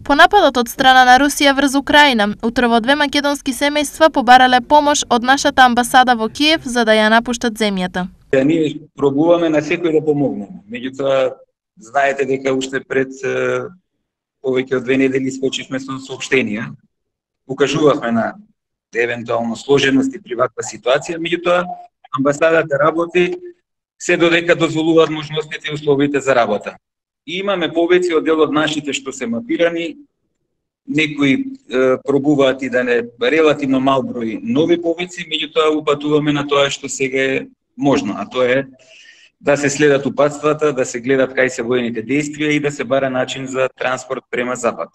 По нападот од страна на Русија врз Украина, утрово две македонски семејства побарале помош од нашата амбасада во Киев за да ја напуштат земјата. Ние пробуваме на секој да помогнеме. Меѓутоа, знаете дека уште пред повеќе од 2 недели скочивме со соопштенија. Укажувавме на евентуално сложености при ваква ситуација, меѓутоа амбасадата работи се додека дозволуваат можностите и условите за работа. И имаме повеци од дел од нашите што се мапирани, некои пробуваат и да не релативно мал број нови повеци, меѓутоа упатуваме на тоа што сега е можно, а тоа е да се следат упатствата, да се гледат кај се воените действија и да се бара начин за транспорт према запад.